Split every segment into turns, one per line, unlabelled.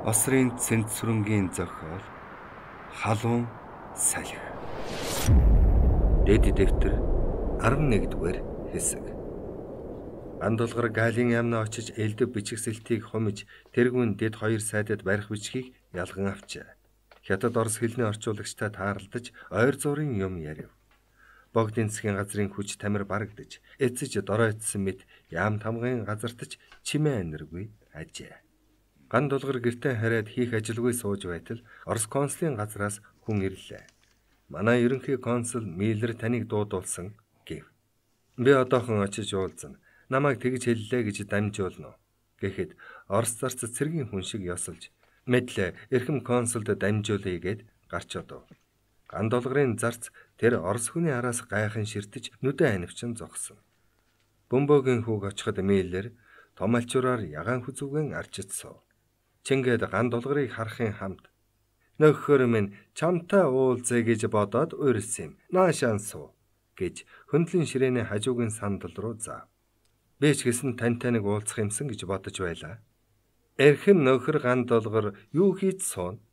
Осрын цэнт сүрэнгийн зохиол халуун салхи. Дэд дэвтэр 11-р хэсэг. Андулгар Галын яамнаа очиж элдв бичгсэлтийг хумж тэргүүн дэд хоёр сайдад барих бичгийг ялган авчээ. Хятад орос хэлний орчуулагчтай таарлаж ойр зуурын юм ярив. Богдын засгийн газрын хүч тамир барагдаж, эцэж доройтсон мэт яам тамгын газартаж чимээ аниргүй ажээ. Ган дулгар гэртээ хараад хийх ажилгүй сууж байтал Орос консулын газраас хүн ирлээ. Манай ерөнхий консул Миллер таныг дуудуулсан гэв. Би одоохон очиж уулзна. Намайг тэгж хэллээ гэж дамжуулна. Гэхэд Орос зарц цэргийн хүн шиг ёсолж мэдлээ эрхэм консулд дамжуулъя гэд гарч одов. Ган дулгарын зарц тэр Орос хүний араас гайхан ширтэж нүдэн анивчин зогсон. Бөмбөгийн хүүг очиход Миллер том алчуураар ягаан хүзүүгэн арчицсав. Чингээд ган дулгарыг харахын хамт нөхөр минь чамтай уулзъя гэж бодоод урьсан юм. Наашаан суу гэж хөндлөн ширээний хажуугийн сандал руу заав. Би ч гэсэн тантай нэг уулзах юмсан гэж бодож байлаа. Эрхэм нөхөр ган дулгар юу хийж суун?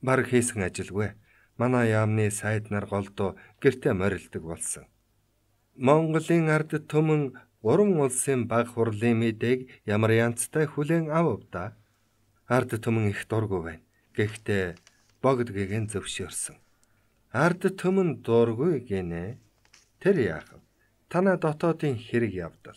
Бараг хийсэн ажилгүй. Манай яамны сайд нар голдуу гэртээ морилдог болсон. Монголын ард түмэн 3 улсын баг хурлын мэдээг ямар янзтай хүлээн авав. Ард түмэн их дургүй байна. Гэхдээ богд гэгэн зөвшөөрсөн. Ард түмэн дургүй гинэ. Тэр яах вэ? Танай дотоодын хэрэг явдал.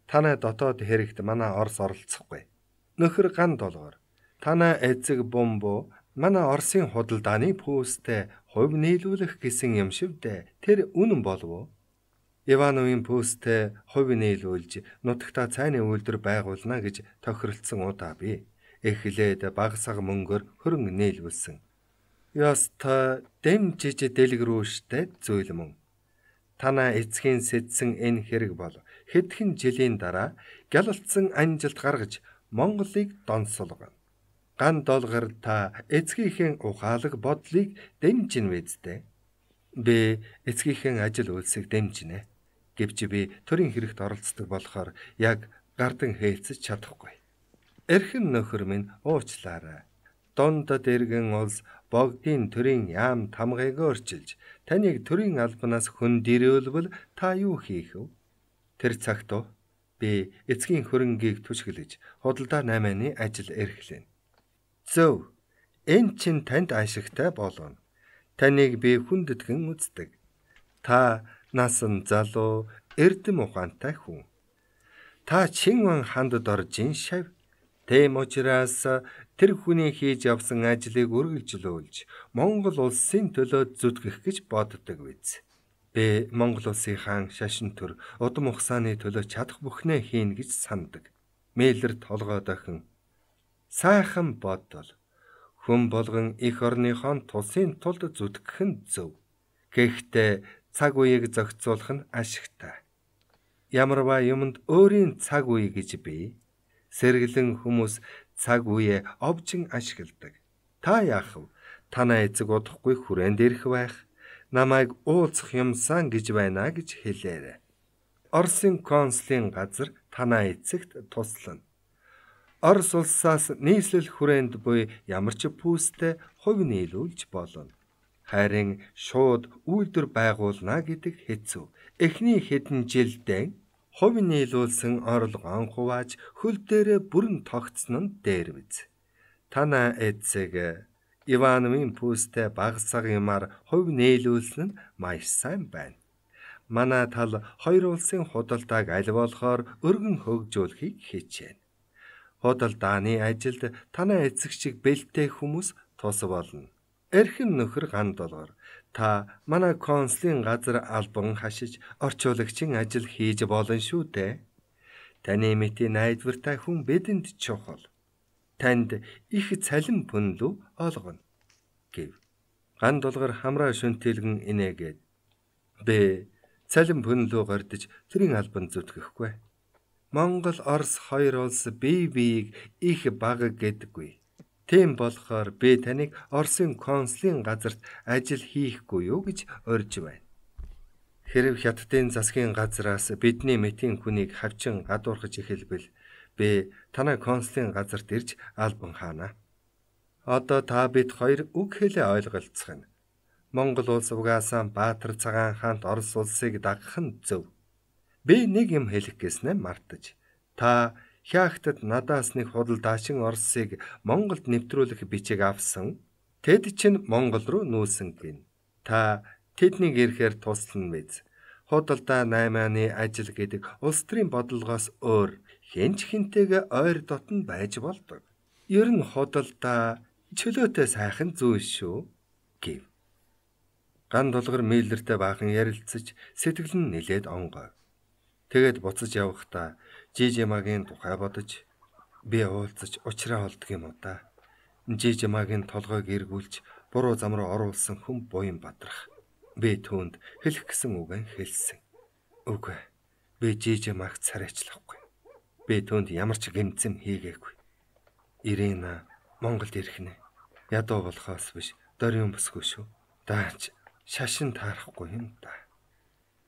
Танай дотоод хэрэгт манай Орос оролцохгүй. Нөхөр ган дулгар. Танай эцэг бомбо манай Оросын худалдааны пүүстэй хувь нийлүүлэх гэсэн юм шивдэ. Тэр үнэн болов уу? Ивановын пүүстэй хувь нийлүүлж нутагта цайны үйлдвэр байгуулна гэж тохиролцсон удаа би эхлээд багсаг мөнгөөр хөрөнгө нийлүүлсэн. Яста дэмжиж дэлгэрүүлжтэй зүйл мөн. Танай эцгийн сэдсэн энэ хэрэг бол хэдхэн жилийн дараа гялалтсан анжилт гаргаж Монголыг донсолгоно. Ган долгар та эцгийнхээ ухаалаг бодлыг дэмжин вэзтэй. Би эцгийнхээ ажил үйлсийг дэмжинэ. Гэвч би төрийн хэрэгт оролцдог болохоор яг гардан хээлцэж чадахгүй. Эрхэм нөхөр минь уучлаарай. Дундад эргэн улс богдын төрийн яам тамгыг өөрчилж таныг төрийн албанаас хөндөрөөлвөл та юу хийх вэ? Тэр цагт би эцгийн хөрөнгийг түшгэлж худалдаа 8-ны ажил эрхлэнэ. Зөв. Энэ чинь танд ашигтай болно. Таныг би хүндэтгэн үздэг. Та насан залуу, эрдэм ухаантай хүн. Та Чинван хандад оржин шав. Тэм учраас тэр хүний хийж явсан ажлыг үргэлжлүүлж Монгол улсын төлөө зүтгэх гэж боддог биз. Би Монгол улсын хаан шашин төр удам ухсааны төлөө чадах бүхнээ хийн гэж санддаг. Миллер толгой дохин. Сайхан бодвол хүн болгон эх орныхон тусын тулд зүтгэх нь зөв. Гэхдээ цаг үеийг зохицуулах нь ашигтай. Ямарваа юмд өөрийн цаг үе гэж бий. Сэргэлэн хүмүүс цаг үеэ овжин ашигладаг. Та яах вэ? Танай эцэг удахгүй хүрээнд ирэх байх. Намайг уулзах юмсан гэж байна гэж хэлээрэй. Оросын консулын газар танай эцэгт туслана. Орос улсаас нийслэл хүрээнд буй ямар ч пүүстэй хувь нийлүүлж болно. Харин шууд үйлдвэр байгуулна гэдэг хэцүү. Эхний хэдэн жилдээ хувь нийлүүлсэн орлогоон хувааж хөл дээрээ бүрэн тогтсон нь дээр биз. Танай эцэг Ивановын пүүстэй багсаг юмар хувь нийлүүлсэн нь маш сайн байна. Манай тал хоёр улсын худалдааг аль болохоор өргөн хөгжүүлэхийг хичээнэ. Худалдааны ажилд танай эцэг шиг бэлтэй хүмүүс тус болно. Эрхэм нөхөр ган дулгар. Та манай консулын газар албан хашиж орчуулагчийн ажил хийж болно шүү дээ. Таны мэтийн найдвартай хүн бидэнд чухал. Танд их цалин пүнлүү олгоно гэв. Ган дулгар хамраа шүнтэлгэн инээгээд бэ цалин пүнлүү гордож төрийн албан зүтгэхгүй. Монгол Орос хоёр улс бие биеийг их бага гэдэггүй. Тийм болохоор би таныг Оросын консулын газарт ажил хийхгүй юу гэж урьж байна. Хэрэв хятадын засгийн газраас бидний мэтийн хүнийг хавчин гадуурхаж эхэлбэл би танай консулын газарт ирж албан хаана. Одоо та бид хоёр үг хэлээ ойлголцох нь. Монгол улс угаасаа Баатар цагаан хаант Орос улсыг дагах нь зөв. Би нэг юм хэлэх гэснээ мартаж. Та Хяхтад надаас нэг худал даашин Оросыг Монголд нэвтрүүлэх бичиг авсан. Тэд чинь Монгол руу нүүсэн гин. Та тэднийг ирэхээр туслана биз. Худалдаа 8-ны ажил гэдэг улс төрийн бодлогоос өөр хэнч хинтэйгээ ойр дотн байж болдог. Ер нь худалдаа чөлөөтэй сайхан зүйл шүү гэв. Ган толгор Миллертэй баахан ярилцаж сэтгэл нь нэлээд онгой. Тэгээд буцаж явахдаа Жижимагийн тухай бодож би уулзаж учраа олдг юм уу та. Жижимагийн толгойг эргүүлж буруу зам руу оруулсан хүн буян бадрах. Би түүнд хэлэх гэсэн үгэн хэлсэн. Үгүй. Би Жижимаг царайчлахгүй. Би түүнд ямар ч гэмцэм хийгээгүй. Ирина Монголд ирэх нэ. Ядуу болохоос биш дөрийн бүсгүй шүү. Даач шашин таарахгүй юм да.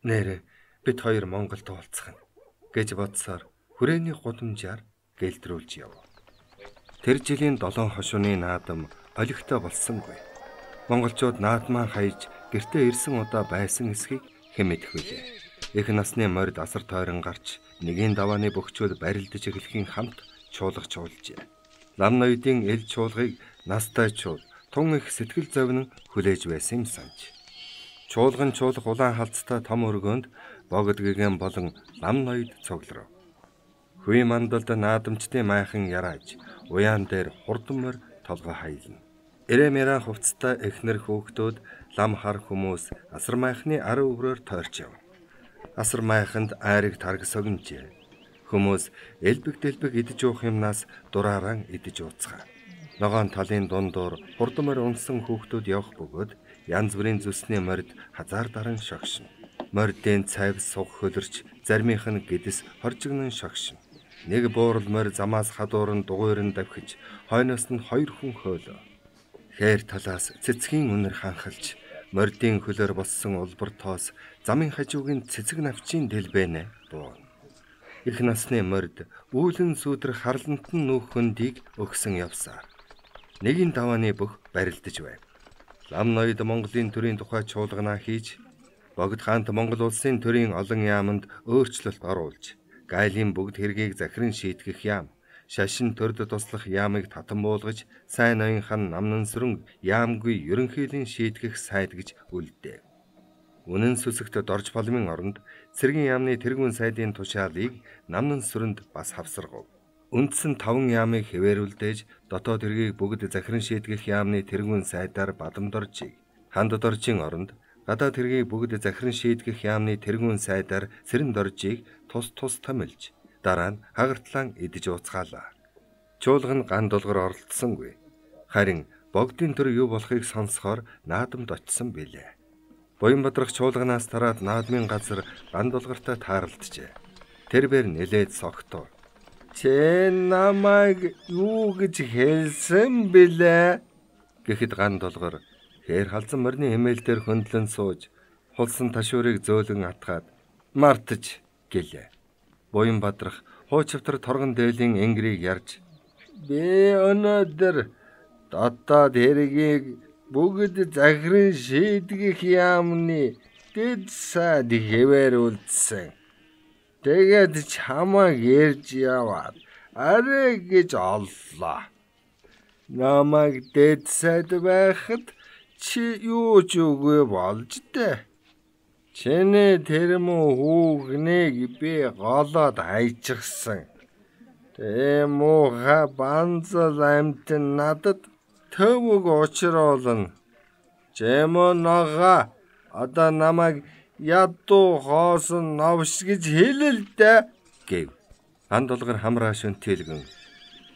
Нэрэ бид хоёр Монголд уулзах нь гэж бодсоор хүрээний гудамжаар гэлтрүүлж яв. Тэр жилийн 7 хошууны наадам олигтой болсонгүй. Монголчууд наадмаа хаяж гэртээ ирсэн удаа байсан эсхийг хэмээх билээ. Их насны морд асар тойрон гарч нэгийн давааны бөхчүүд барилдаж эхлэхийн хамт чуулгаж уулжээ. Лам ноёдын эл чуулгыг настай чуул тун их сэтгэл зовнин хүлээж байсан юм санаж. Чуулган чуулга улаан халцтай том өргөнд богд гэгэн болон лам ноёд цугларав. Хүй мандалд наадамчдын майхан ярааж уяан дээр хурдмөр толгой хаялна. Эрэмэрэн хувцастай эхнэр хүүхдүүд лам хар хүмүүс асар майхны ар өврөөр тойрч яв. Асар майханд айрыг тарг согнжээ. Хүмүүс элбэг дэлбэг идэж уух юмнаас дурааран идэж ууцгаа. Ногоон талын дундуур хурдмөр унсан хүүхдүүд явах бөгөөд янз бүрийн зүсний морд хазаар даран шогшин. Мордын цайв суг хөлөрч зармийнх нь гэдэс хоржигнон шогшин. Нэг буурал морь замаас хадуурн дугуйрн давхиж хойноос нь 2 хүн хөөлөө. Хээр талаас цэцгийн үнэр ханхалж мордын хөлөөр болсон улбар тоос замын хажуугийн цэцэг навчийн дэлбэнэ буун. Их насны морд үүлэн сүдрэх харлантан нүүх хөндийг өгсөн явсаар нэгийн давааны бүх барилдаж байв. Лам ноёд Монголын төрийн тухай чуулгана хийж богд хаант Монгол улсын төрийн олон яамд өөрчлөлт оруулж гайлын бүгд хэргийг захиран шийтгэх яам, шашин төрд туслах яамыг татан буулгаж сайн ноёнхан намнан сүрэн яамгүй ерөнхийлөн шийтгэх сайд гэж үлдээв. Үнэн сүсэгт дорж боломын оронд цэргийн яамны тэргүүн сайдын тушаалыг намнан сүрэнд бас хавсаргав. Үндсэн 5 яамыг хэвээрүүлдэж дотоод хэргийг бүгд захиран шийтгэх яамны тэргүүн сайдаар бадамдоржийг ханд доржийн оронд гадаад хэргийг бүгд захиран шийтгэх яамны тэргүүн сайдаар сэрэн доржийг тус томилж дараа нь хагартлан идэж ууцгаалаа. Чуулга нь ган долгор оролцсонгүй. Харин богдын төр юу болохыг сонсохоор наадамд очсон билээ. Буян бадрах чуулганаас тараад наадмын газар ган долгортой тааралджээ. Тэрбээр нэлээд согтуу. Чи намайг юу гэж хэлсэн бэлээ? Гэхэд ган долгор хээр халзан морины эмээл дээр хөндлөн сууж хулсан ташуурыг зөөлөн атгаад мартаж гэлээ. Буян бадрах хуучвтар торгон дээлийн энгэрийг ярьж би өнөөдөр дотоод хэргийг бүгд захиран шийдгэх яамны дэд сайд хэвээрүүлсэн. Тэгээд чамайг ярьж яваад арай гэж оллоо. Намайг дэд сайд байхад чи юу ч үгүй болж дээ. Чиний тэр муу хүүхнийг би голоод хайчихсан. Тийм муухай банзал амтэн надад төвөг учруулна. Чэмөө нага одоо намайг ядуу хоосон новш гэж хэлэлдэ гэв. Ган долгор хамраа шөнтэлгэн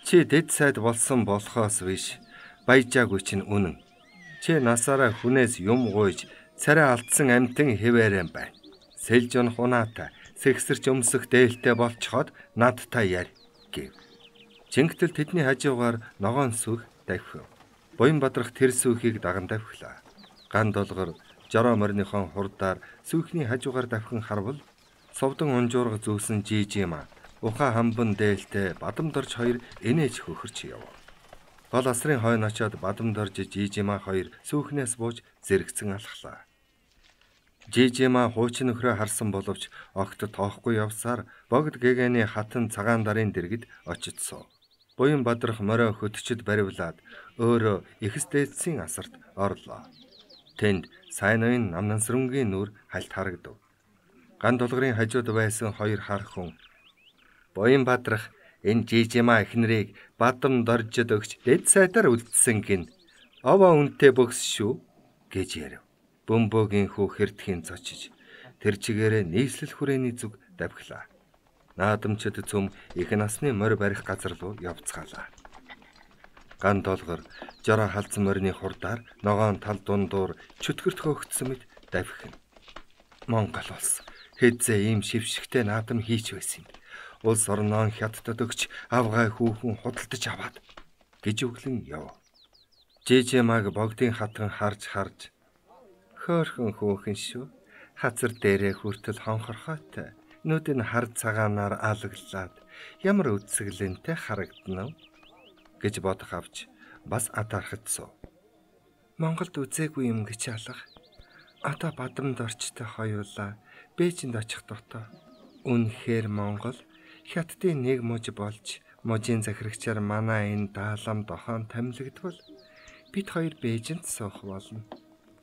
чи дэд сайд болсон болохоос биш баяжаагүй чинь үнэн. Чи насаараа хүнээс юм гуйж царай алдсан амтэн хэвээрэн байна. Сэлжон хунаатай сэгсэрч өмсөх дээлтэй болцоход надтай ярь гэв. Чингтэл тэдний хажуугаар ногоон сүх давхив. Буян бадрах тэр сүхийг даган давхилаа. Ган долгор жороо морныхон хурдаар сүхний хажуугаар давхин харвал совдон унжуурга зүүсэн Жижима ухаан хамбан дээлтэй бадамдорж хоёр инээж хөхөрч яв. Гол асрын хойно очиод бадамд орж Жижима хоёр сүүхнээс бууж зэрэгцэн алхлаа. Жижима хуучин нөхрөө харсан боловч огт тоохгүй явсаар богд гэгэний хатан цагаан дарын дэргэд очицсоо. Буян бадрах морио хөтчөд баривлаад өөрөө ихс дээдсийн асарт орлоо. Тэнд сайн уян намнансрынгийн нүур хальт харагдав. Ган толгорын хажууд байсан хоёр хар хүн буян бадрах энэ Жижима эхнэрийг бадамд оржид өгч дэд сайтар үлдсэн гин овоо үнтэй бөгс шүү гэж ярив. Бөмбөгийн хүү хэрдхийн цочиж тэр чигээрээ нийслэл хүрээний зүг давхилаа. Наадамчид цөм их насны морь барих газар руу явцгаалаа. Ган толгор жороо халдсан морины хурдаар ногоон тал дундуур чөтгөрт хөөгдсөн мэт давхина. Монгол улс хэзээ ийм шившигтэй наадам хийч байсан юм. Улс орноо хятадд өгч авгай хүүхэн худалдаж аваад гэж өглөн яв. Жижимаг богдын хатан харж хөөхөн хүүхэн шүү. Хазар дээрээ хүртэл хонхорхойтой. Нүд нь хар цагаанаар алаглаад ямар үсгэлэнтэй харагдана гэж бодох авч бас атаархацсан. Монголд үзээгүй юм гэж алга. Одоо бадамд орчтой хоёулаа Бээжинд очих дотоо. Үнэхээр Монгол хятадын нэг муж болж мужийн захирагчаар манай энэ даалам дохоон томилогдвол бид хоёр Бээжинд суух болно.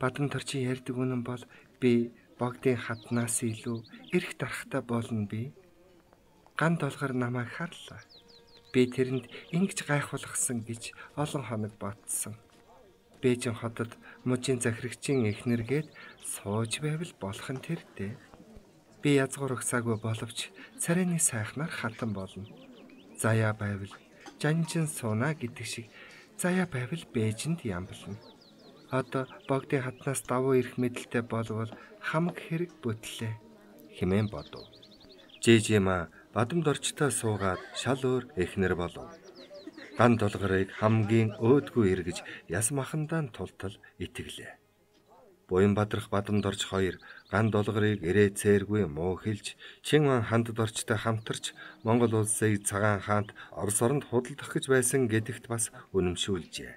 Бадамд орчин ярьдаг үнэн бол би богдын хатнаас илүү эрх дарахтай болно би. Ган толгор намайг харлаа. Би тэрэнд ингэж гайхуулгасан гэж олон хоног бодсон. Бээжин хотод мужийн захирагчийн эхнэргээд сууж байвал болох нь тэр дээ. Би язгуур өгсаагүй боловч царайны сайхнаар хатан болно. Заяа байвал жанжин сууна гэдэг шиг заяа байвал Бээжинд ямблна. Одоо богдын хатнаас давуу ирэх мэдлэлтэй болвол хамаг хэрэг бүтлээ хэмээн бодов. Жижима бадамд орчтой суугаад шал өөр эхнэр болов. Ган толгорыг хамгийн өөдгүй эргэж яс махандаа тултал итгэлээ. Буян бадрах бадамд орч хоёр ган толгорыг ирээ цээргүй муу хэлж Чинган хандад орчтой хамтарч Монгол улсыг цагаан хаант Орос оронд худалдах гэж байсан гэдэгт бас үнэмшүүлжээ.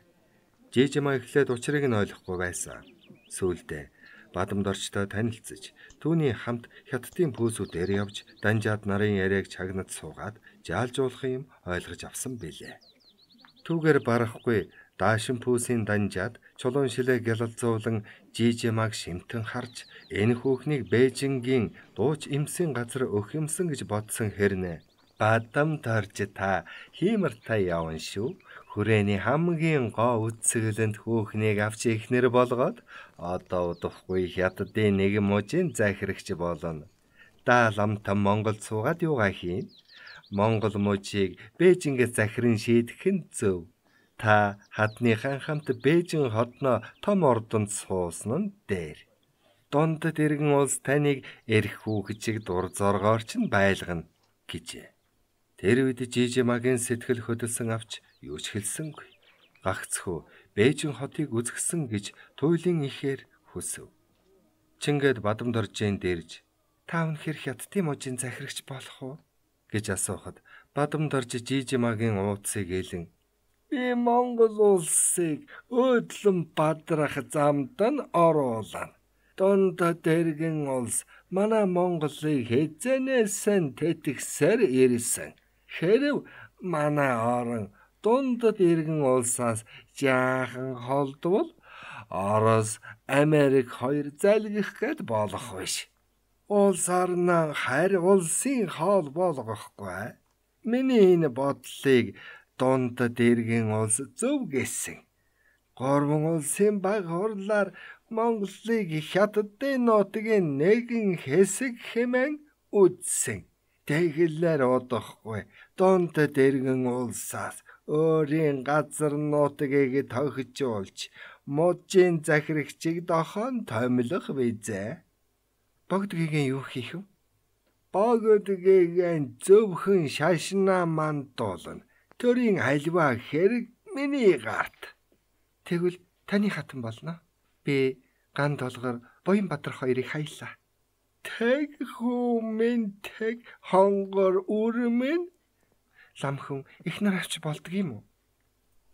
Жижима эхлээд учрыг нь ойлгохгүй байсан. Сүүлдээ бадамд орчтой танилцж түүний хамт хятадын пүүсүүдээр явж данжаад нарын яриаг чагнад суугаад жаалжуулах юм ойлгож авсан билээ. Түүгээр барахгүй даашин пүүсийн данжаад чулуун шилээ гялалзуулан Жижимаг шимтэн харж энэ хүүхнийг Бээжингийн дууч эмсийн газар өгөх юмсан гэж бодсон хэрнэ. Бадамд орж та хиймэртэй явна шүү. Хүрээний хамгийн гоо үсгэлэнд хүүхнийг авч ихнэр болгоод одоо удахгүй хятадын нэг мужийн захирагч болно. Даалмтан Монгол суугаад юугаа хийн? Монгол мужийг Бээжингээс захиран шийдэх нь зөв. Та хадныхан хамт Бээжин хотноо том ордонд суусан нь дээр. Дундад иргэн улс таныг эрх хүүхчиг дур зоргоорч нь байлгана гэжээ. Тэр үед Жижимагийн сэтгэл хөдөлсөн авч юу ч хэлсэнгүй. Гагцхүү Бээжин хотыг үзгсэн гэж туйлын ихээр хүсв. Чингээд бадамд оржийн дэрж та үнэхээр хятадын мужийн захирагч болох уу гэж асуухад бадамд орж Жижимагийн ууцыг ээлэн би Монгол улсыг өөдлөн бадрах замд нь оруулна. Дундад дэргэн улс манай Монголыг хэзэнээсэн тэтгэсээр ирсэн. Хэрв манай орон дундад иргэн улсаас жаахан холдвол Орос, Америк хоёр залгих гээд болох биш. Улс орноо харь улсын хоол болгохгүй. Миний энэ бодлыг дундад иргэн улс зөв гэсэн. Гурван улсын баг хурлаар Монголыг хятадын нутгийн нэгэн хэсэг хэмээн үзсэн. Тэгэлээр удахгүй дундад иргэн улсаас өөрийн газар нутгийг тохижуулж мужийн захирагчийг дохоон томилох визээ. Богд гэгээ юу хийх вэ? Богд гэгээ зөвхөн шашнаа мандуулна. Төрийн альва хэрэг миний гарт. Тэгвэл таны хатан болно. Би ган толгор буян бадрах хоёрыг хаялаа. Тэг хүмүн тэг хонгор үрмэн ламхэн ихнэр авч болдг юм уу?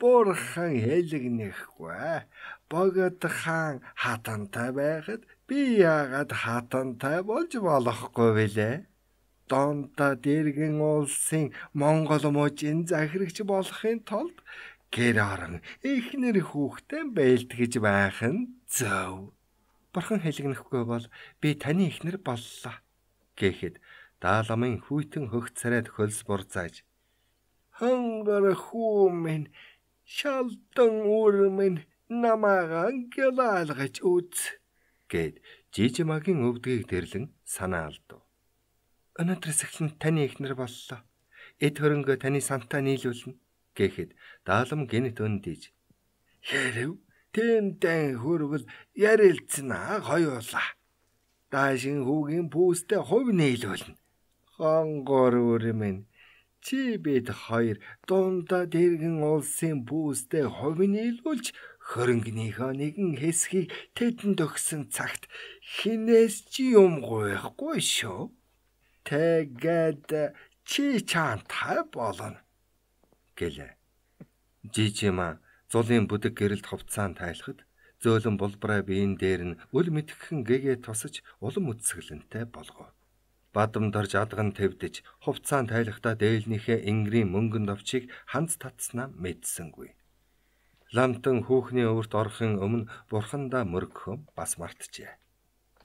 Бурхан хэлэгнэхгүй. Богд хаан хатантай байхад би яагаад хатантай болж болохгүй вүлээ? Донда дэргэн улсын Монгол мужийн захирагч болохын тулд гэр орон эхнэр хүүхдээ бэлтгэж байх нь зөв. Бурхан хэлэгнэхгүй бол би таны эхнэр боллоо гэхэд Дааламын хүйтэн хөгт царайд хөлс бурзааж хангар хүү минь шалдан үр минь намайг ангилалгаж үз гэд Жижимагийн өвдгийг дэрлэн санаа алдав. Өнөөдрөөс эхлэн таны эхнэр боллоо. Эд хөрөнгөө таны сантаа нийлүүлнэ гэхэд Даалам гинт өндийж хэрэв тэмдэн хөрвөл ярилцсанаа хоёулаа. Даашин хүүгийн пүүстэй хувь нийлүүлнэ. Хонгор үр минь чи бид хоёр дундаа дэргэн улсын пүүстэй хувь нийлүүлж хөрөнгөнийхөө нэгэн хэсгийг тэдэнд өгсөн цагт хинээс чи юм гуйхгүй шүү. Тэгээд чи чантай болно гэлээ. Жижима зулын бүдэг гэрэлд хувцаан тайлахад зөөлөн булбараа биеийн дээр нь үл мэдхэн гэгээ тусаж улам үсгэлэнтэй болгов. Бадамдарж адган твдэж хувцаан тайлахдаа дээлнийхээ ингрийн мөнгөн довчийг ханц татснаа мэдсэнгүй. Лантан хүүхний өвөрт орохын өмнө бурхандаа мөргөхөн бас мартжээ.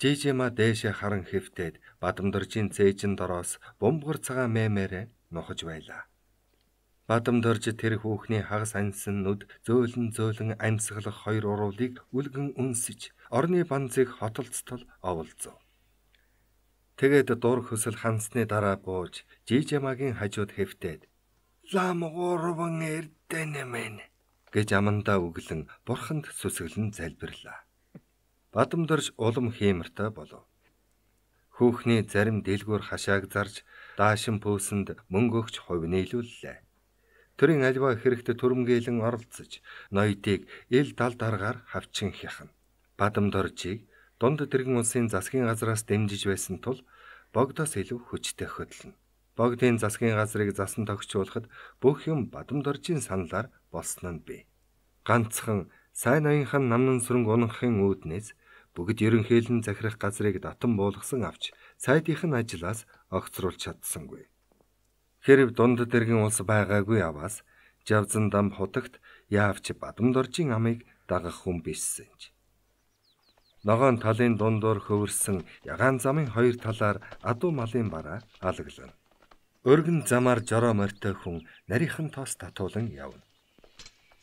Жижима дээшээ харан хэвтээд Бадамдаржийн цээжин дороос бумбар цагаан мэмээрээ нухаж байлаа. Бадамдарж тэр хүүхний хагас ансан нүд зөөлөн амьсгалах хоёр урвалыг үлгэн үнсэж орны банзыг хотолцтол оволзов. Тэгээд дур хөсөл хансны дараа бууж Жижимагийн хажууд хэвтээд лам гурван эрдэнэмэн гэж амандаа өглөн бурханд сүсгэлэн залбирлаа. Бадамдарж улам хиймэртэй болов. Хүүхний зарим дэлгүүр хашааг зарж даашин пүүсэнд мөнгө өгч хувь нийлүүллээ. Төрийн альва хэрэгт түрэмгээлэн оролцож ноёдыг ил дал даргаар хавчин хяхна. Бадамдаржийг дунд дэргэн улсын засгийн газраас дэмжиж байсан тул богдоос илүү хүчтэй хөдлөнө. Богдын засгийн газрыг засан тогтчуулахад бүх юм Бадамдаржийн саналаар болсон нь бий. Ганцхан сайн ноёнхан намнан сүрэнг унахын үүднээс бүгд ерөнхийлөн захирах газрыг татан буулгасан авч сайдынх нь ажлаас огцруулж чадсангүй. Хэрв дунд дэргэн улс байгаагүй аваас Жавзан дам хутагт яавч Бадамдаржийн амыг дагах хүн бишсэнж. Ногоон талын дундуур хөвөрсөн ягаан замын хоёр талаар адуу малын бараа алаглана. Өргөн замаар жороо морьтой хүн нарийнхан тоос татуулан явна.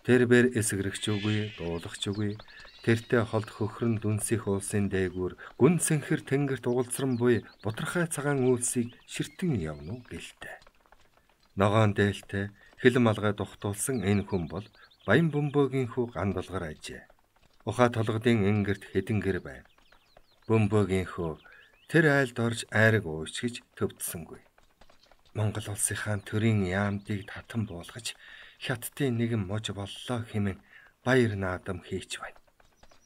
Тэрбэр эсгэрэгч үгүй, дуулахч үгүй. Тэртээ холд хөхрөн дүнсих улсын дээгүүр гүн сэнхэр тэнгэрт угалзран буй бутархай цагаан үйлсийг ширтэн явна уу гэлтэй. Ногоон дээлтэй хилэн малгай тухтуулсан энэ хүн бол Баян бөмбөгийн хүү Гандалгар ажээ. Ухаа толгодын энгэрт хэдэн гэр байв. Бөмбөгийн хүү тэр айлд орж айраг уучгиж төвдсөнгүй. Монгол улсынхаа төрийн яамдыг татан буулгаж хятадын нэгэн муж боллоо хэмээн баяр наадам хийч байна.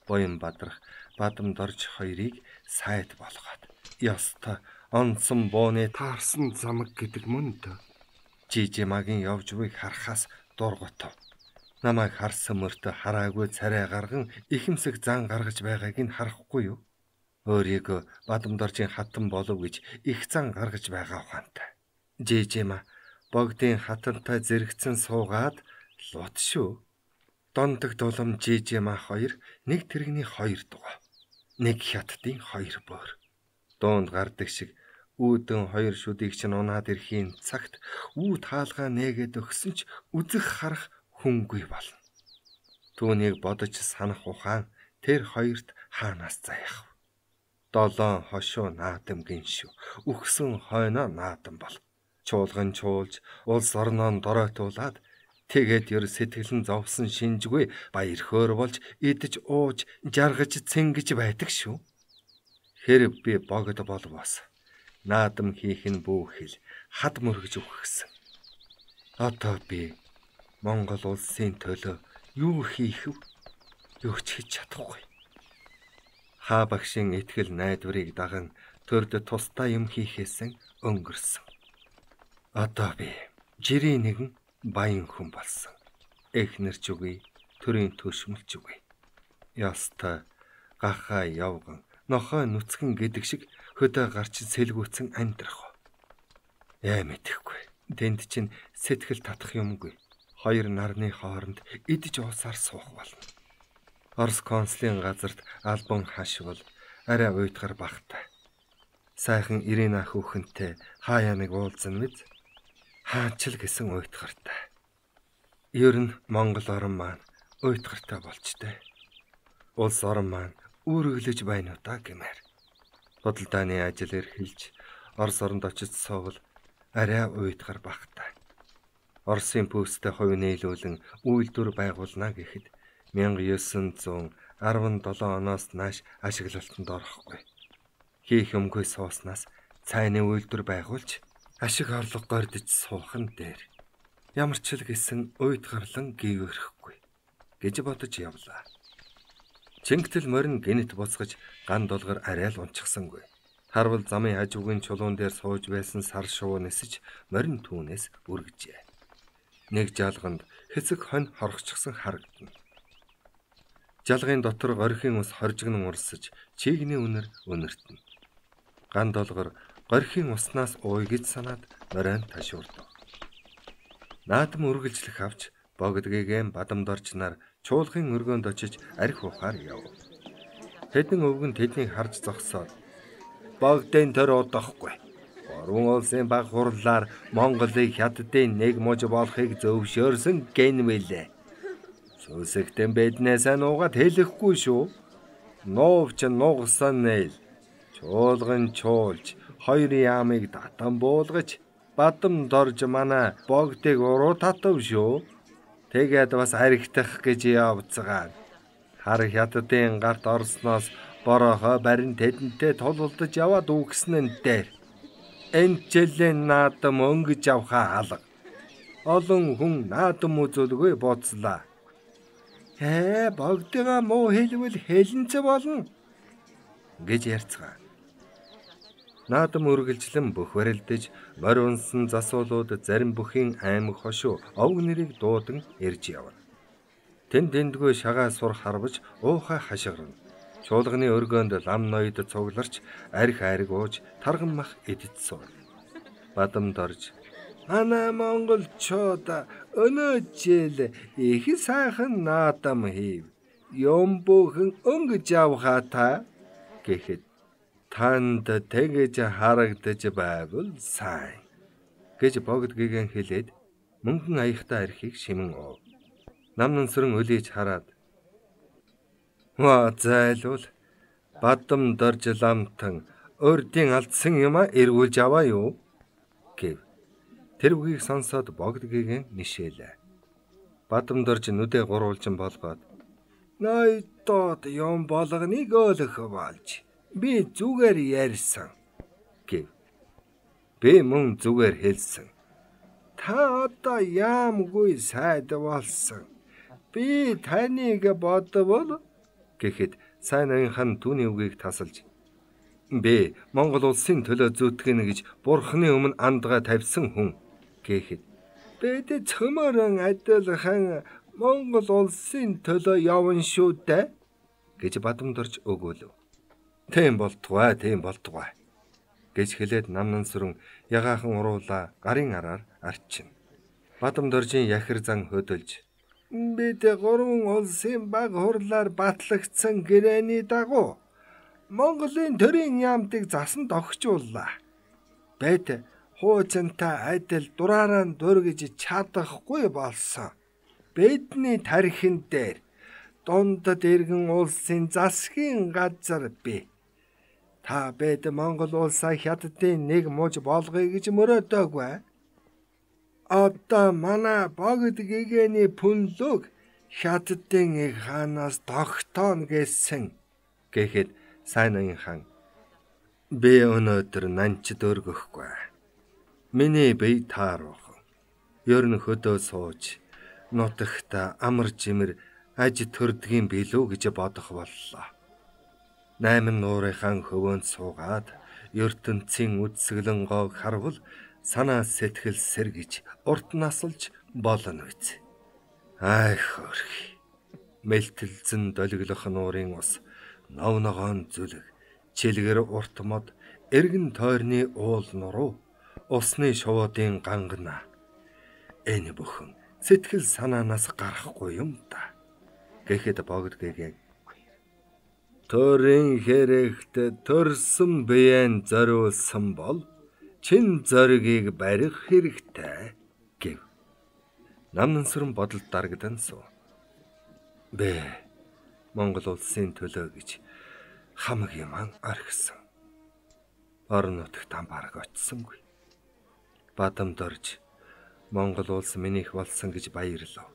Буян бадрах Бадамдарж хоёрыг сайд болгоод ёстой онцон бууны таарсан замаг гэдэг мөн дөө. Жижимагийн явж буйг харахаас дургутав. Намайг харсан мөртөө хараагүй царай гарган ихэмсэг зан гаргаж байгааг нь харахгүй юу? Өөрийгөө Бадамдаржийн хатан болов гэж их зан гаргаж байгаа ухаантай. Жижима богдын хатантай зэрэгцэн суугаад лут шүү. Дондог дулам Жижима хоёр нэг тэрэгний хоёр дугаа. Нэг хятадын хоёр бөөр. Дуунд гардаг шиг үүдэн хоёр шүдийг чинь унаад ирэхийн цагт үүд хаалгаа нээгээд өгсөн ч үзэх харах хүнгүй болно. Түүнийг бодож санах ухаан тэр хоёрт хаанаас заяах вэ? Долоон хошуу наадам гиншүү. Үхсэн хойноо наадам бол. Чуулган чуулж, улс орноон доройтуулаад тэгээд ер сэтгэлэн зовсон шинжгүй баяр хөөр болж идэж ууж жаргаж цэнгэж байдаг шүү. Хэрэг би богд болвоос наадам хийх нь бүүхэл хад мөргөж өгсөн. Одоо би Монгол улсын төлөө юу хийх вэ? Юу ч хийж чадахгүй. Хаа багшийн итгэл найдварыг даган төрд тустай юм хийхээсэн өнгөрсөн. Одоо би жирийн нэгэн баян хүн болсон. Эхнэрч үгүй, төрийн төшмөлч үгүй. Ястай гахаа явган, нохой нүцгэн гэдэг шиг хөдөө гарч сэлгүүцэн амьдрах. Яа мэдэхгүй. Тэнд чинь сэтгэл татах юмгүй. Хоёр нарны хооронд идэж уусаар суух болно. Орос консулын газарт албан хашвал арай уйтгар багтай. Сайхан Ирина хүүхэнтэй хаяа нэг уулзсан мэд. Хаанчл гэсэн уйтгартай. Ер нь Монгол орн маань уйтгартай болчтой. Улс орн маань үүрэглэж байна уу та гэмээр. Худалдааны ажил эрхэлж Орос оронд очиж суувал арай уйтгар багтай. Оросын пүүстэй хувь нийлүүлэн үйлдвэр байгуулна гэхэд 1917 оноос нааш ашиглалтанд орохгүй. Хийх юмгүй сууснаас цайны үйлдвэр байгуулж ашиг орлого гордож суухан дээр. Ямар ч л гэсэн уйтгарлан гүйвэрхгүй гэж бодож явлаа. Чингтэл морин гинэт буцгаж ган долгор арай л унчихсангүй. Харвал замын хажуугийн чулуун дээр сууж байсан сар шувуу нисэж морин түүнээс үргэжээ. Нэг жалганд хэсэг хонь хорхочихсан харагдана. Жалгын дотор горхийн ус хоржигнон урсаж чийгний үнэр өнөртнө. Ган долгор горхийн уснаас ууй гэж санаад морин ташуурдав. Наадам үргэлжлэх авч богдгийгэн бадамдорч нар чуулгын өргөөнд очиж арх ухаар яв. Хэдэн өвгөн тэднийг харж зогсоод богдын төр удахгүй. Орон улсын баг хурлаар Монголыг хятадын нэг муж болохыг зөвшөөрсөн гэнвэлээ. Сүсэгтэн биднээс нуугаад хэлэхгүй шүү. Нуувч нугсан нээл. Чуулган чуулж хоёр яамыг татан буулгаж бадам дорж манай богдыг уруу татав шүү. Тэгээд бас аригтах гэж явцгаана. Хар хятадын гарт орсноос борохоо барин тэдэнтэй тулалдаж яваад үгсэн нь дээр. Энд жилийн наадам өнгөж авахаа алга. Олон хүн наадам үзүүлгүй боцлаа. Богдыгаа муу хэлвэл хэлэнц болно гэж ярьцгаа. Наадам үргэлжлэн бөхвэрэлдэж морь унсан засуулууд зарим бүхийн аймаг хошуу овг нэрийг дуудан ирж явна. Тэндгүй шагаа сур харваж уухай хашгирна. Чуулганы өргөөнд лам ноёд цугларч арх ариг ууж тарган мах идэж сууна. Бадамд орж манай монголчууд өнөө жил их сайхан наадам хийв. Юм бүхэн өнгөж авахаа та гэхэд танд тэгэж харагдаж байвал сайн гэж богдгийгэн хэлээд мөнгөн аяхтай архийг шимэн уув. Намнансран өлийж хараад зайлвал бадам дорж ламтан өрдийн алдсан юма эргүүлж аваа юу гэв. Тэр үгийг сонсоод богдгийгэн нишээлээ. Бадам дорж нүдэ гурвалжин болгоод ноёдод юм болгоныг өөлөх болж би зүгээр ярьсан гэв. Би мөн зүгээр хэлсэн. Та одоо яамгүй сайд болсон. Би таныг бодвол гэхэд сайн аяхан түүний үгийг тасалж би Монгол улсын төлөө зүтгэнэ гэж бурхны өмнө андгаа тавьсан хүн гэхэд бид цөмөрөн адилхан Монгол улсын төлөө явна шүү дээ гэж бадамдорж өгөөлөв. Тийм болтугай гэж хэлээд намнансран ягаахан уруула гарын араар арчина. Бадамдоржийн яхир зан хөдөлж бид гурван улсын баг хурлаар батлагдсан гэрээний дагуу Монголын төрийн яамтыг засан тогтчууллаа. Бид хуучинтай адил дураараа дургиж чадахгүй болсон. Бидний тархин дээр дундад иргэн улсын засгийн газар бий. Та бид Монгол улсаа хятадын нэг муж болгоё гэж мөрөөдөөгүй. Одоо манай богдгийгэний пүнлөг хятадын их хаанаас тогтооно гэсэн гэхэд сайн аян хаан би өнөөдөр нанчд өргөхгүй. Миний бие таарах. Ер нь хөдөө сууж нутагта амар жимэр аж төрдгийн билүү гэж бодох боллоо. 8 нуурынхан хөвөөнд суугаад ертөнцийн үдсгэлэн гоог харвал санаа сэтгэл сэргэж урт насалж болно үз. Ай хөрх. Мэлтэлзэн долиглох нуурын ус, нов ногоон зүлэг, чилгэр урт мод, эргэн тойрны уул нуруу, усны шувуудын гангана. Энэ бүхэн сэтгэл санаанаас гарахгүй юм да. Гэхэд богд гэгээн. Төрийн хэрэгт төрсөн биеэн зориулсан бол чин зоригийг барих хэрэгтэй гэв. Намнансран бодолд дарагдан суу. Монгол улсын төлөө гэж хамаг юм орхисон. Орон нутагт бараг очсонгүй. Бадамд орж Монгол улс минийх болсон гэж баярлав.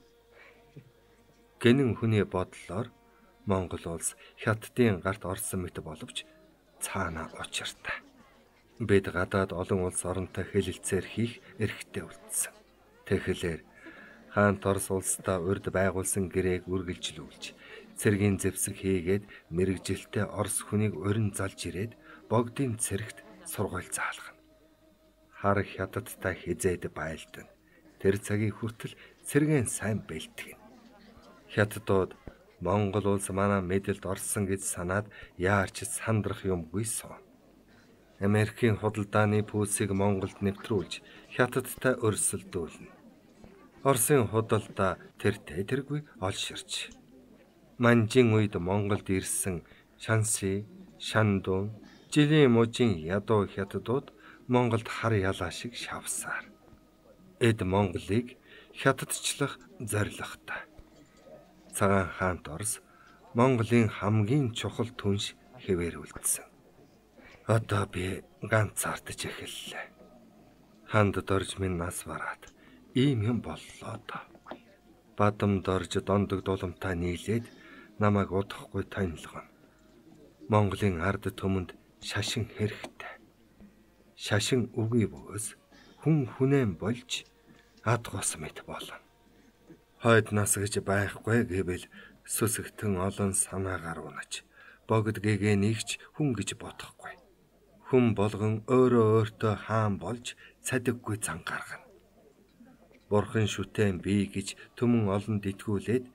Гэнэн хүний бодлоор Монгол улс хятадын гарт орсон мэт боловч цаана учиртай. Бид гадаад олон улс оронтой хэлэлцээр хийх эрхтэй үлдсэн. Тэгэхээр хаант Орос улстай урд байгуулсан гэрээг үргэлжлүүлж, цэргийн зэвсэг хийгээд мэрэгжилтэй Орос хүнийг урин залж ирээд богдын цэрэгт сургууль заалгана. Хар хятадтай хизээд байлдан. Тэр цагийн хүртэл цэргийн сайн бэлтгэн. Хятадууд Монгол улс манай мэдэлд орсон гэж санаад яарч сандрах юмгүй суу. Америкийн худалдааны пүүлсийг Монголд нэвтрүүлж Хятадтай өрсөлдүүлнэ. Оросын худалдаа тэргүй олширч. Манжин үед Монголд ирсэн Шанси, Шандун, жилийн мужийн ядуу хятадууд Монголд хар ялаа шиг шавсаар. Эд Монголыг хятадчлах зорилготой. Цагаан хаант Орос Монголын хамгийн чухал түнш хэвээр үлдсэн. Одоо би ганцаардаж эхэллээ. Хандд орж минь нас бараад ийм юм боллоо доо. Бадамд орж дондог дуламтаа нийлээд намайг удахгүй танилгоно. Монголын ард түмэнд шашин хэрэгтэй. Шашин үгүй бөгөөс хүн хүнээн болж ад гос мэт болно. Хойд нас гэж байхгүй гэвэл сүсэгтэн олон санаагаар унаж, богд гэгээ нэгч хүн гэж бодохгүй. Хүн болгон өөртөө хаан болж цадиггүй зан гаргана. Бурхан шүтэн бий гэж түмэн олонд итгүүлээд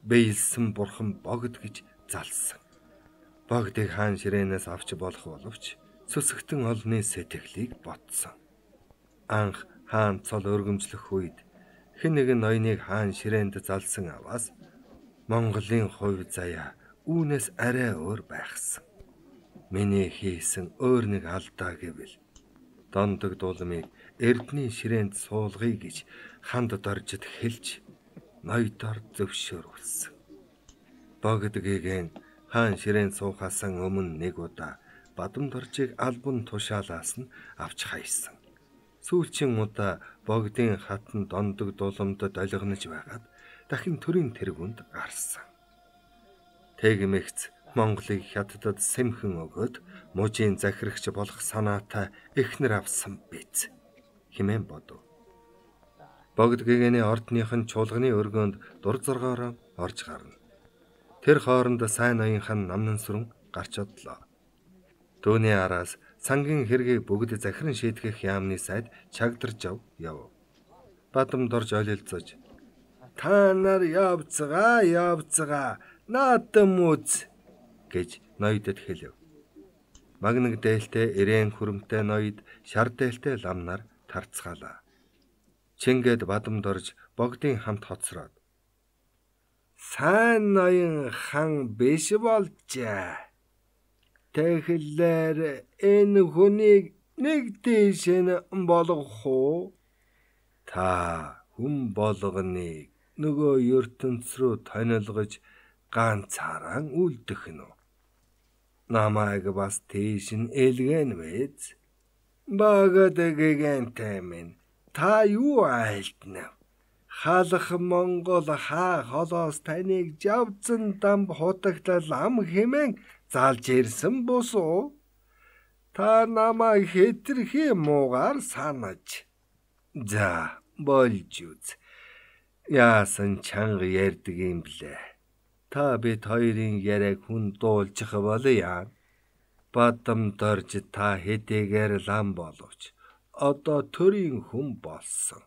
бэйлсэн бурхан богд гэж залсан. Богдыг хаан ширээнээс авч болох боловч сүсэгтэн олонны сэтгэлийг ботсон. Анх хаан цол өргөмжлөх үед хэн нэгэн ноёныг хаан ширээнд залсан аваас Монголын хувь заяа үүнээс арай өөр байхсан. Миний хийсэн өөр нэг алдаа гэвэл дондог дулмыг эрдний ширээнд суулгая гэж ханд доржид хэлж ноёдоор зөвшөөрүүлсэн. Богд гэгээн хаан ширээнд суухаас өмнө нэг удаа Бадамд оржийг албан тушаалаас нь авч хайсан. Сүүлчийн удаа богдын хатан дондог дулмд долгинож байгаад дахин төрийн тэргүнд гарсан. Тэгмэгц Монголыг хятадд сэмхэн өгөөд мужийн захирагч болох санаатай эхнэр авсан биз хэмээн бодов. Богд гэгэний ордныхын чуулганы өргөөнд дур зоргоороо орж гарна. Тэр хооронд сайн ноёнхан намнансран гарч одлоо. Түүний араас сангийн хэргийг бүгд захиран шийтгэх яамны сайд чагдарж яв. Бадамд орж олилцож та нар явцгаа наадам үз гэж ноёдод хэлв. Магнаг дээлтэй ирээн хүрэмтэй ноёд шар дээлтэй ламнаар тарцгаалаа. Чингээд Бадамд орж богдын хамт хоцроод сайн ноён хан биш болжээ. Тэгэхээр энэ хүнийг нэг дэш нь болгох уу? Та хүн болгоныг нөгөө ертөнц рүү тонилгож ганцаараа үлдэх нь. Намайг бас тийш нь элгэн мэз. Багад гэгэнтэй минь та юу айлтна? Халах Монгол хаа холоос таныг жавцан дамб хутагтал ам хэмээн залж ирсэн босоо. Та намайг хэтэрхий муугаар санаж. За болж үз. Яасан чанга ярьдаг юм блэ? Та бид хоёрын яриаг хүн дуулчих болъё. Бадамд орж та хэдийгээр лам боловч одоо төрийн хүн болсон.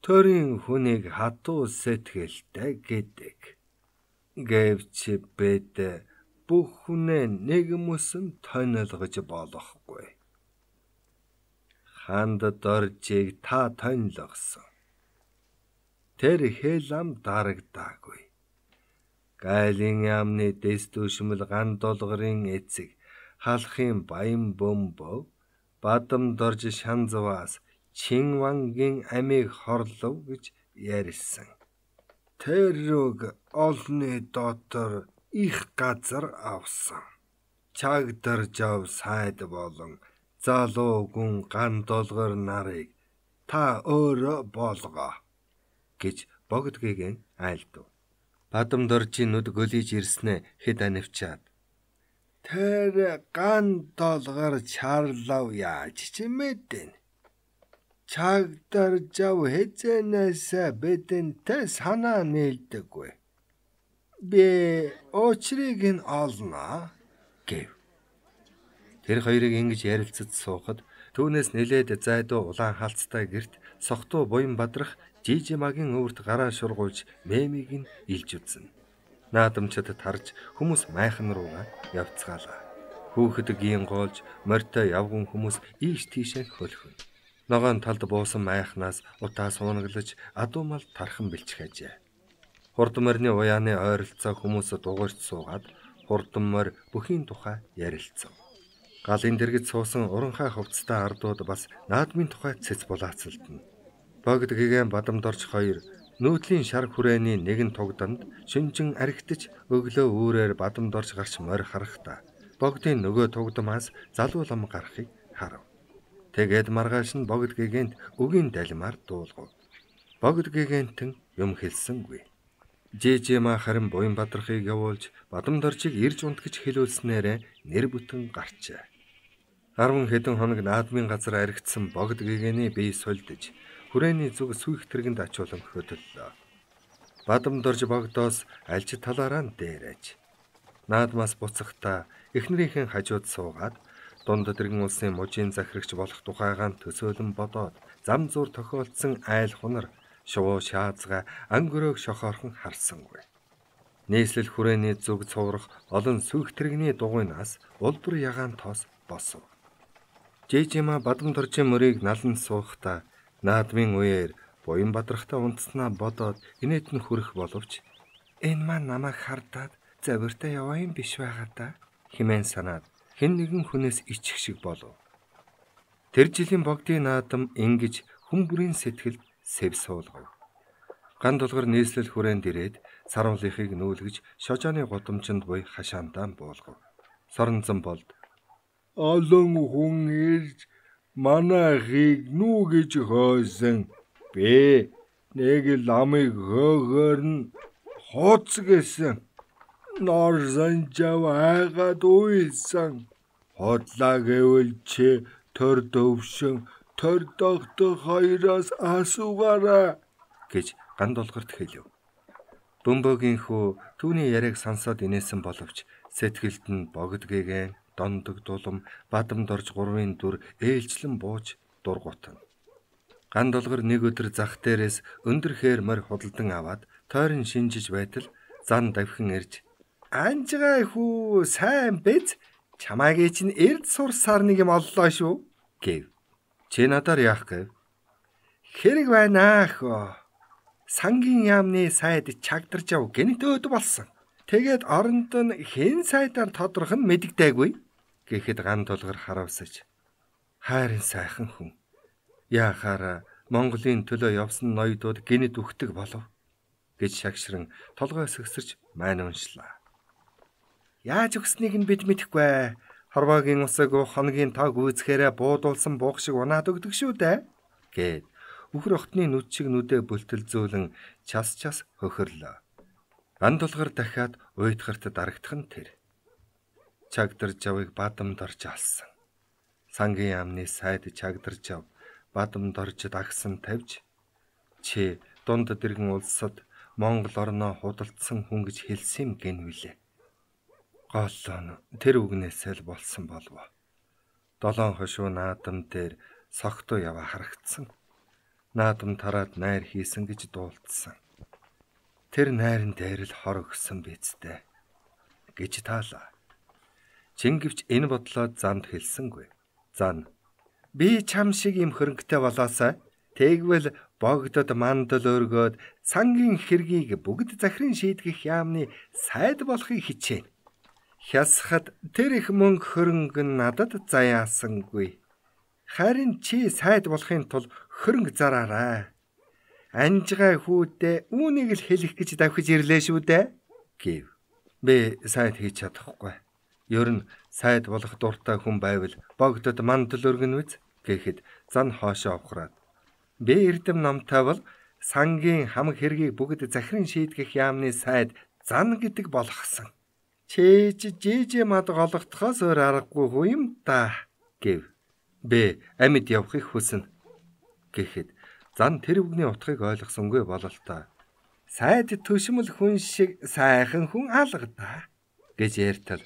Төрийн хүнийг хатуу сэтгэлтэй гэдэг. Гэвч бид бүх хүнээ нэг мөсөн тонилгож болохгүй. Ханд доржийг та тонилгосон. Тэр хэл ам дарагдаагүй. Гайлын яамны дэс түшмэл ган долгорын эцэг халахын баян бөмбөг бадам дорж шанзваас Чинвангийн амийг хорлов гэж ярьсан. Тэр үг олны дотор их газар авсан. Чагдаржав сайд болон залуу гүн ган долгор нарыг та өөрөө болгоо гэж богдгийгэн айлдав. Бадам доржийн нүд гөлиж ирснэ хэд анивчаад. Тэр ган долгор чарлав яаж ч мэдэн. Чагдаржав хэзэнээс бидэнтэй санаа нийлдэггүй. Би очрыг нь олноо гэв. Тэр хоёрыг ингэж ярилцаж суухад түүнээс нэлээд зайдуу улаан халцтай гэрт сохтуу буян бадрах Жижимагийн өвөрт гараа шургуулж мемийг нь илж үзнэ. Наадамчид тарж хүмүүс майхан руугаа явцгаалаа. Хүүхэд гингоолж морьтой явган хүмүүс ийш тийшээ хөлхөн. Ногоон талд буусан майхнаас утаа суунаглаж адуумал тархан бэлчгэжээ. Хурдан морины уяаны ойролцоо хүмүүсд дугуйрч суугаад хурдан морь бүхийн тухай ярилцав. Галын дэргэд суусан уранхай хувцастай ардууд бас наадмын тухай цэц булаацалдана. Богд гэгэн бадам дорж хоёр нүүдлийн шар хүрээний нэгэн тугданд шүнжин архитаж өглөө үүрээр бадам дорж гарч морь харахта богдын нөгөө тугдамаас залуу лам гарахыг харав. Тэгээд маргааш нь богд гэгэнт үгийн далимаар дуулгав. Богд гэгэнтэн юм хэлсэнгүй. Жижима харин буян бадрахыг явуулж бадам доржийг ирж унтгаж хэлүүлснээрээ нэр бүтэн гарчээ. 10 хэдэн хоног наадмын газар аригдсан богд гэгэний бие сольдож хүрээний зүг сүйх тэргэнд ачуулан хөдөллөө. Бадам дорж богдоос альж талаараа дээрэж. Наадмаас буцахдаа эхнэрийнхэн хажууд суугаад дунд тэргэн улсын мужийн захирагч болох тухайгаан төсөөлөн бодоод зам зуур тохиолдсон айл хунар шувуу шаазга ангөрөөг шохоорхон харсангүй. Нийслэл хүрээний зүг цуврах олон сүйх тэргэний дугуйнаас улбар ягаан тоос босов. Жижима бадам доржийн мөрийг налан суухдаа наадмын үеэр буян бадрахтаа унтснаа бодоод инээд нь хүрэх боловч энэ маань намайг хардаад завиртаа яваа юм биш байгаа да хэмээн санаад хэн нэгэн хүнээс ичих шиг болов. Тэр жилийн богдын наадам ингэж хүн бүрийн сэтгэлд сэв суулгав. Ган долгор нийслэл хүрээнд ирээд саруулынхыг нүүлгэж шожооны гудамжинд буй хашаандаа буулгав. Соронзон болд олон хүн ирж манайхыг нүгэж хойсон. Би нэг ламыг хөөгөр нь хооц гэсэн. Нор санжав айгаад уйсан. Хотлаа гэвэл чи төр дөвшин төр догтох хоёроос асуугаарай гэж ган долгорт хэлв. Бөмбөгийн хүү түүний яриаг сонсоод инээсэн боловч сэтгэлд нь богд гэгэн дондог дулам бадам дорж гурвын дүр ээлжлэн бууж дургуутна. Ган долгор нэг өдөр зах дээрээс өндөр хээр морь худалдан аваад тойрон шинжиж байтал зан давхин ирж "Анжгаа хүү сайн биз? Чамаагийн чинь эрд сурсаар нэг юм оллоо шүү" гэв. "Чи надаар яах гэв?" "Хэрэг байна хөө. Сангийн яамны сайд чагдарж яв гэнэтөөд болсон. Тэгээд оронд нь хэн сайдаар тодорх нь мэддэггүй" гэхэд ган долгор харавсаж "Хайрын сайхан хүн. Яахаараа Монголын төлөө явсан ноёдууд гинэд үхдэг болов" гэж шагшран толгой сэгсэрч мань уншлаа. "Яаж өгснийг нь бид мэдэхгүй. Хорвоогийн усыг хоногийн тог үүсгээрээ буудуулсан буух шиг унаад өгдөг шүү дээ" гэд үхэр охтны нүд шиг нүдэ бүлтэлзүүлэн час хөхөрлөө. Ган долгор дахиад уйтгарт дарагдах нь тэр. Чагдарж авыг бадам дорж алсан. Сангийн яамны сайд чагдарж ав бадам дорж дагсан тавьж чи дунд дэргэн улсад Монгол орноо худалдсан хүн гэж хэлсэн гэн вүлээ. Гол нь тэр үгнээсээ л болсон болов. 7 хошуу наадам дээр согтуу яваа харагдсан. наадам тараад найр хийсэн гэж дуулдсан. Тэр найрын дээр л хор өгсөн бицтэй гэж таалаа. Чингэвч энэ бодлоо занд хэлсэнгүй. Зан би чам шиг юм хөрөнгөтэй болоосаа тэгвэл богдод мандал өргөөд сангийн хэргийг бүгд захирын шийдгэх яамны сайд болохыг хичээнэ. Хясахад тэр их мөнгө хөрөнгө надад заяасангүй. Харин чи сайд болохын тулд хөрөнгө зараарай. Анжгаа хүүдээ үүнийг л хэлэх гэж давхиж ирлээ шүү дээ гэв. Би сайд хийж чадахгүй. Ер нь сайд болох дуртай хүн байвал богдод мандал өргөнө үз гэхэд зан хоошоо ухраад. Би эрдэм номтой бол сангийн хамаг хэргийг бүгд захирын шийдгэх яамны сайд зан гэдэг болгосон. Чээж жижиг мад голгохоос өөр аргагүй хүү юм да гэв. Би амьд явахыг хүснэ гэхэд зан тэр үгний утгыг ойлгосонгүй бололтой. Сайд төшмөл хүн шиг сайхан хүн алгадаа гэж ярьтал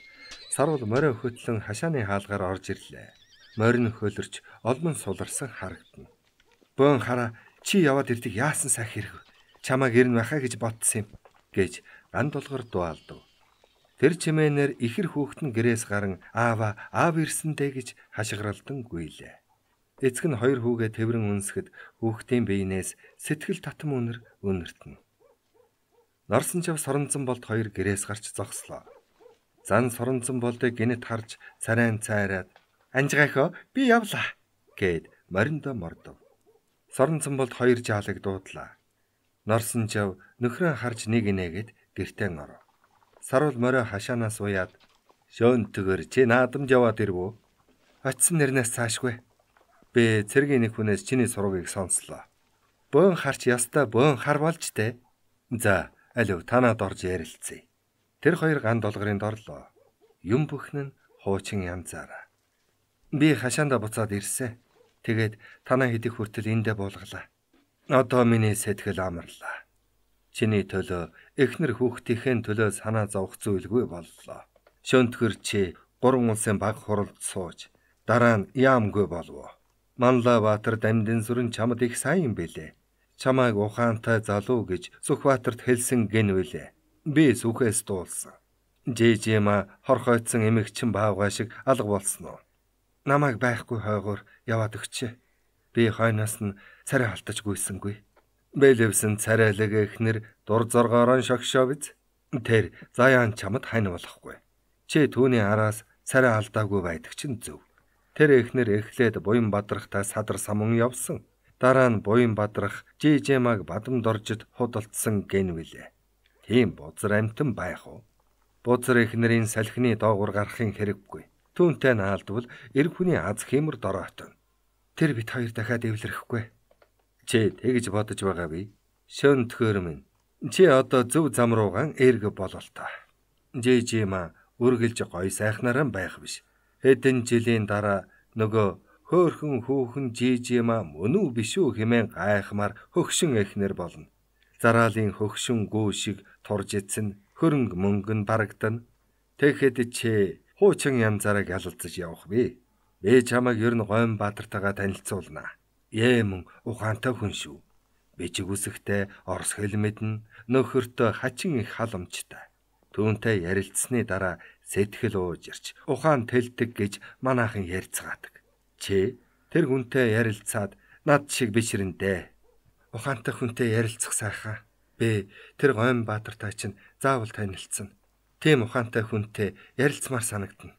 сарвал морио хөтлөн хашааны хаалгаар орж ирлээ. Морин хөлөрч олмон суларсан харагдана. Бөөн хараа чи яваад ирдэг яасан сах хэрэг. Чамааг ирнэ байхаа гэж ботсон юм гэж ганд болгор дуалдав. Тэр чимээнээр ихэр хүүхэд нь гэрээс гарan аав ирсэндээ гэж хашгиралдан гуйлээ. Эцэг нь хоёр хүүгээ тэврэн үнсгэд хүүхдийн биенээс сэтгэл татам үнэр үнэртэн. Норсон жав соронзон болд хоёр гэрээс гарч зогслоо. Зан соронзон болдыг гинэт харж царайн цайраад анжгаахоо би явлаа гэд мориндоо мордов. Соронзон болд хоёр жаалыг дуудлаа. Норсон жав нөхрөө харж нэг инээгээд гэртээ оров. Сарвал морио хашаанаас уяад шөөнтгөр чи наадамж яваад ирвүү? Очсон нэрнээс цаашгүй. Би цэргийн нэг хүнээс чиний сургыг сонслоо. Бөөн харч ястаа бөөн хар болж тэ. За, алив танаад орж ярилцъя. Тэр хоёр ганд долгорын дорлоо. Юм бүхэн нь хуучин янзаараа. Би хашаанда буцаад ирсэн. Тэгээд танаа хэдих хүртэл эндэ буулгалаа. Одоо миний сэтгэл амарлаа. Чиний төлөө эхнэр хүүхдийнхээ төлөө санаа зовх зүйлгүй боллоо. Шөнтгөр чи 3 улсын баг хуралд сууж дараа нь яамгүй болов. Манлайбаатар Дамдын сүрэн чамд их сайн юм бэлээ. Чамайг ухаантай залуу гэж Сүхбаатарт хэлсэн гэнвэлээ. Би сүхээс дуулсан. Жижима хорхойдсон эмэгчин баавгай шиг алга болсон уу? Намайг байхгүй хойгоор яваад өгчээ. Би хойноос нь царай халтаж гүйсэнгүй. Бэлэвсэн царайлаг эхнэр дур зоргоороо шогшоо биз. Тэр заяан чамд хань болохгүй. Чи түүний араас царай алдаагүй байдаг чинь зөв. Тэр эхнэр эхлээд буян бадрахтай садар самун явсан. Дараа нь буян бадрах жижимаг бадамд оржид худалдсан гэнвэлээ. Тийм бузар амтан байх уу? Бузар эхнэрийн салхины доогуур гарахын хэрэггүй. Түүнтэй наалдвал эр хүний аз хиймэр дороотон. Тэр бит хоёр дахиад эвлэрэхгүй. Чи тэгж бодож байгаа бий. Шөнтгөр минь. Чи одоо зөв зам руугаан эрг бололтой. Жижима үргэлж гой сайхнараа байх биш. Хэдэн жилийн дараа нөгөө хөөхөн хүүхэн жижима мөн үү биш үү хэмээн гайхмаар хөгшин эхнэр болно. Зараалын хөгшин гүү шиг турж эцэн хөрөнгө мөнгөн барагдана. Тэгэхэд чи хуучин янзаараа ялалцаж явах бий. Би чамайг ер нь Гойн Баатартайгаа танилцуулнаа. Мөн ухаантай хүн шүү. Бичиг үсэгтэй, орос хэл мэднэ, нөхөртөө хачин их халамжтай. Түүнтэй ярилцсны дараа сэтгэл уужирч ухаан тэлдэг гэж манайхан ярьцгаадаг. Чи тэр хүнтэй ярилцаад над шиг бишрэндээ. Ухаантай хүнтэй ярилцах сайхан. Би тэр Гойн Баатартай чинь заавал танилцсан. Тийм ухаантай хүнтэй ярилцмаар санагдана.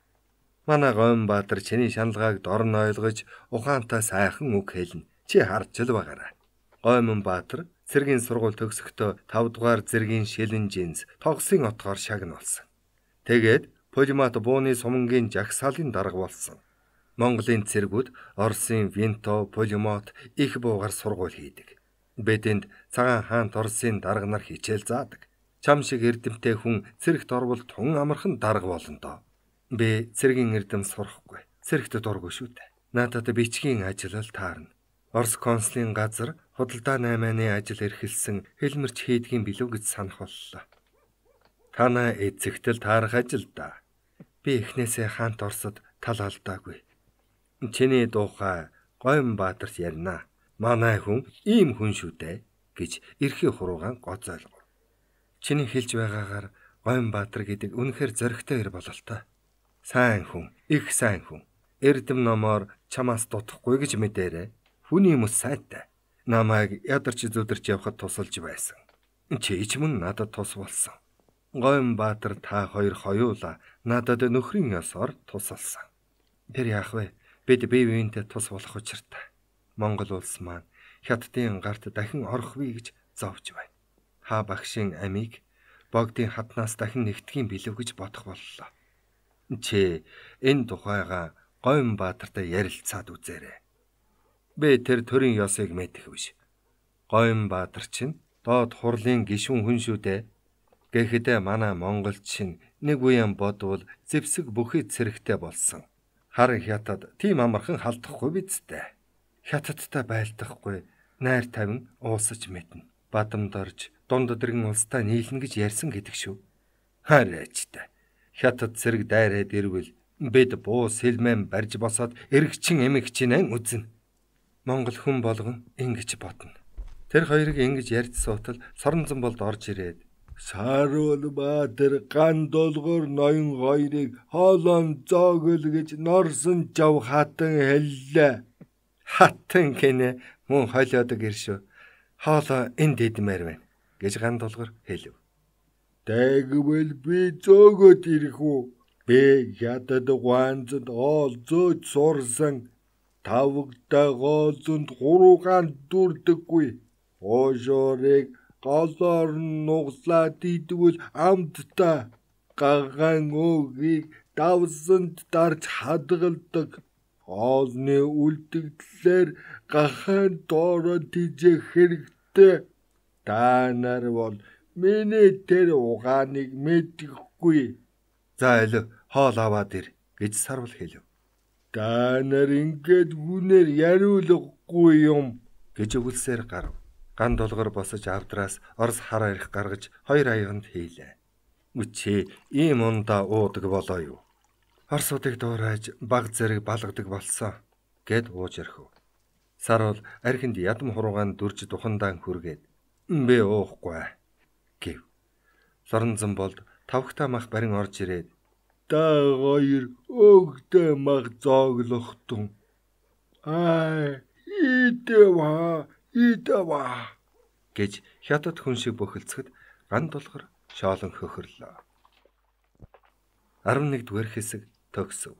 Манай Гойн Баатар чиний шаналгааг дорн ойлгож ухаантай сайхан үг хэлнэ. Чи харж л байгаарай. Гойн Баатар цэргийн сургууль төгсөхдөө 5 дугаар зэргийн шилэн жинс тогсын отгоор шагнуулсан. Тэгээд полимат бууны сумангийн жагсаалын дарга болсон. Монголын цэргүүд Оросын Винто, полимат их буугаар сургууль хийдэг. Бидэнд цагаан хаант Оросын дарга нар хичээл заадаг. Чам шиг эрдэмтэй хүн цэрэгт орвол тун амархан дарга болно доо. Би цэргийн эрдэм сурахгүй. Цэрэгт дургүй шүү дээ. Надад бичгийн ажил л таарна. Орос консулын газар худалдаа 8-ны ажил эрхэлсэн хэлмэрч хийдгийн билүү гэж санах боллоо. Танаа эцэгтэл таарах ажил да. Би эхнээсээ хаант Оросод тал алдаагүй. Чиний дуухай Гойн Баатарт ярина. Манай хүн ийм хүн шүү дээ гэж эрхээ хуруугаан гоцойлгов. Чиний хэлж байгаагаар Гойнбаатар гэдэг үнэхээр зоригтой ир бололтой. Сайн хүн, их сайн хүн. Эрдэм номоор чамаас дутахгүй гэж мэдээрэй. Хүний хүмүүс сайтай. Намайг ядарч зүдэрч явхад тусалж байсан. Чи ч мөн надад тус болсон. Гойнбаатар та хоёр хоёулаа надад нөхрийн ёсоор тусалсан. Тэр яах вэ? Бид бие биентэй тус болох учиртай. Монгол улс маань хятадын гарт дахин орохвээ гэж зовж байна. Та багшийн амийг богдын хатнаас дахин нэгтгэхийн билүү гэж бодох боллоо. Чи энэ тухайга Гойнбаатартай ярилцаад үзээрэй. Би тэр төрийн ёсыг мэдэх биш. Гойнбаатар чинь доод хурлын гишүүн хүн шүү дээ. Гэхдээ манай монголчин нэг үеийн бодвол зэвсэг бүхий цэрэгтэй болсон. Хар хятад тийм амархан халдахгүй бидтэй. Хятадтай байлдахгүй, найр тавин уусаж мэднэ. Бадамд орж дунд дэргэн улстай нийлнэ гэж ярьсан гэдэг шүү. Хараач та. Хятад цэрэг дайраад ирвэл бид буу сэлмэн барьж босоод эргчин эмэгчнэн үзнэ. Монгол хүн болгон ингэж бодно. Тэр хоёрыг ингэж ярьж суутал Соронзонболд орж ирээд Саруулбаатар ган долгоор ноён хоёрыг хоолон зоогөл гэж норсон жав хатан хэллээ. Хатан гинэ мөн хойлоодог иршүү. Хоолоо энд идмээр байна гэж ган долгоор хэлв. Тэгвэл би зөөгөөд ирэх үү? Би хятад гуанзад хоол зөөж сурсан. Тавгтай гоолзонд хуруугаан дүрдэггүй. Ошоорыг голоор нуглаад идвэл амттай гаган өөгийг давсанд дарж хадгалдаг. Хоолны үлдэгдлээр гахаан доороо тижэх хэрэгтэй. Та нар бол миний тэр угааныг мэдэхгүй. За элв хоол аваад ир гэж Сарвал хэлв. Та нар ингээд хүнээр яриулахгүй юм гэж өгүүлсээр гарав. Ган долгор босож авдраас Орос хар арх гаргаж хоёр аянд хийлээ. Үчи ийм ундаа уудаг болоо юу? Орсуудыг дуурайж баг зэрэг балгадаг болсон гэд ууж орхив. Сарвал архинд ядам хуруугаан дүрж духандаан хүргээд би уухгүй гэв. Соронзонболд тавхтай мах барин орж ирээд та хоёр өөгтэй мах зооглохтун. Идэва гэж хятад хүн шиг бөхөлцөхөд ган долгор шоолон хөхөрлөө. 11-р хэсэг төгсөв.